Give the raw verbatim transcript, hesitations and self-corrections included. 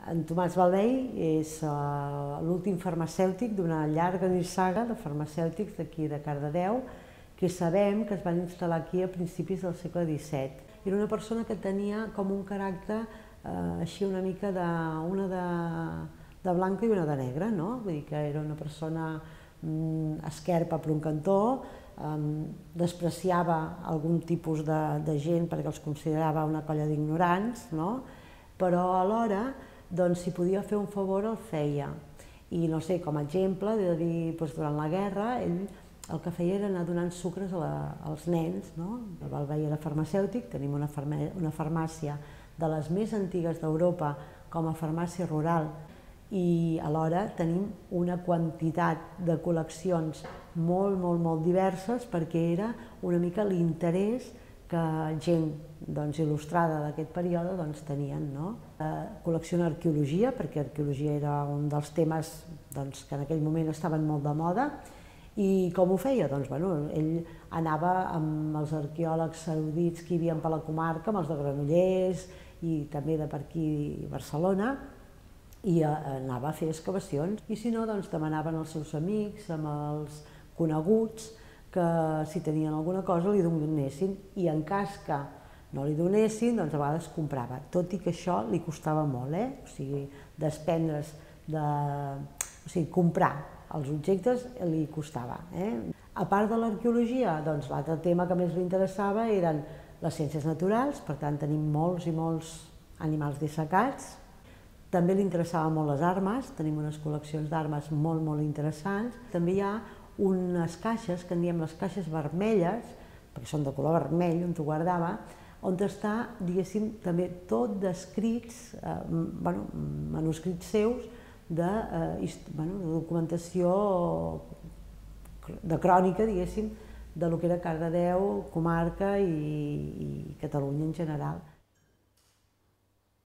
En Tomàs Balvei és l'últim farmacèutic d'una llarga nissaga de farmacèutics d'aquí de Cardedeu que sabem que es van instal·lar aquí a principis del segle disset. Era una persona que tenia com un caràcter eh, així una mica de, una de, de blanca i una de negra, no? Vull dir que era una persona mm, esquerpa per un cantó, eh, despreciava algun tipus de, de gent perquè els considerava una colla d'ignorants, no? Però alhora, doncs, si podia fer un favor el feia. I no sé, com a exemple, de dir, doncs, durant la guerra, ell el que feia era anar donant sucres a la, als nens, no? El Balvei era farmacèutic, tenim una, farmà, una farmàcia de les més antigues d'Europa com a farmàcia rural i alhora tenim una quantitat de col·leccions molt, molt, molt diverses perquè era una mica l'interès que gent doncs, il·lustrada d'aquest període doncs, tenien. No? Eh, col·lecciona arqueologia, perquè arqueologia era un dels temes doncs, que en aquell moment estaven molt de moda. I com ho feia? Doncs, bueno, ell anava amb els arqueòlegs erudits que hi havia per la comarca, amb els de Granollers i també de per aquí Barcelona, i anava a fer excavacions. I si no, doncs, demanaven als seus amics, amb els coneguts, que si tenien alguna cosa li donessin, i en cas que no li donessin, doncs a vegades comprava, tot i que això li costava molt, eh? O sigui, desprendre's de... o sigui, comprar els objectes li costava. Eh? A part de l'arqueologia, doncs l'altre tema que més li interessava eren les ciències naturals, per tant tenim molts i molts animals dissecats. També li interessaven molt les armes, tenim unes col·leccions d'armes molt, molt interessants. També hi ha unes caixes, que en diem les caixes vermelles, perquè són de color vermell, on t'ho guardava, on està, diguéssim, també tot d'escrits, eh, bueno, manuscrits seus, de, eh, bueno, de documentació, de crònica, diguéssim, de lo que era Cardedeu, comarca i, i Catalunya en general.